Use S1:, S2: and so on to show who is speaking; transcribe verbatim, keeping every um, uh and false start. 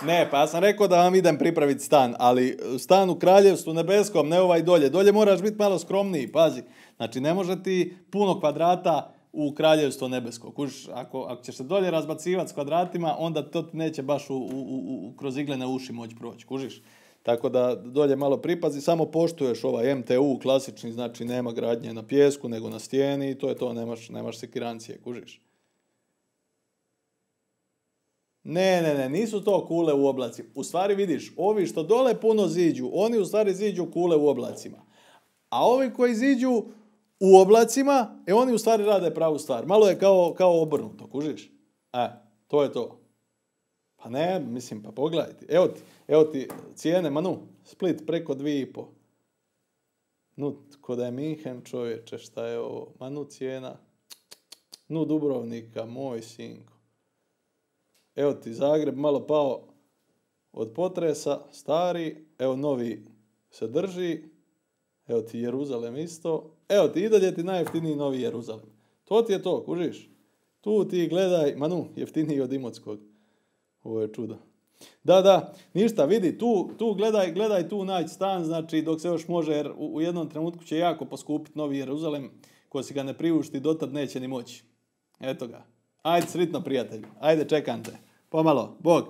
S1: Ne, pa ja sam rekao da vam idem pripraviti stan, ali stan u Kraljevstvu nebeskom, ne ovaj dolje. Dolje moraš biti malo skromniji, pazi. Znači, ne može ti puno kvadrata u Kraljevstvo nebesko. Kužiš, ako, ako ćeš se dolje razbacivati s kvadratima, onda to ti neće baš u, u, u, kroz iglene uši moći proći, kužiš. Tako da dolje malo pripazi, samo poštuješ ovaj M T U klasični, znači nema gradnje na pijesku, nego na stijeni i to je to, nemaš, nemaš sekirancije, kužiš. Ne, ne, ne, nisu to kule u oblacima. U stvari vidiš, ovi što dole puno ziđu, oni u stvari ziđu kule u oblacima. A ovi koji ziđu u oblacima, e oni u stvari rade pravu stvar. Malo je kao, kao obrnuto, kužiš? E, to je to. Pa ne, mislim, pa pogledajte. Evo ti, evo ti cijene, Manu, Split preko dvije i po. Nu, ko da je Minhen, čovječe, šta je ovo? Manu cijena. Nu, Dubrovnika, moj sinko. Evo ti Zagreb malo pao od potresa, stari, evo novi se drži, evo ti Jeruzalem isto, evo ti i dalje ti najjeftiniji novi Jeruzalem. To ti je to, kužiš? Tu ti gledaj, Manu, jeftiniji od Imotskog. Ovo je čudo. Da, da, ništa, vidi, tu, tu gledaj, gledaj tu naći stan, znači dok se još može, jer u, u jednom trenutku će jako poskupiti novi Jeruzalem, ko si ga ne priušti, dotad neće ni moći. Eto ga. Ajde, sritno prijatelju. Ajde, čekam te. Pomalo. Bog.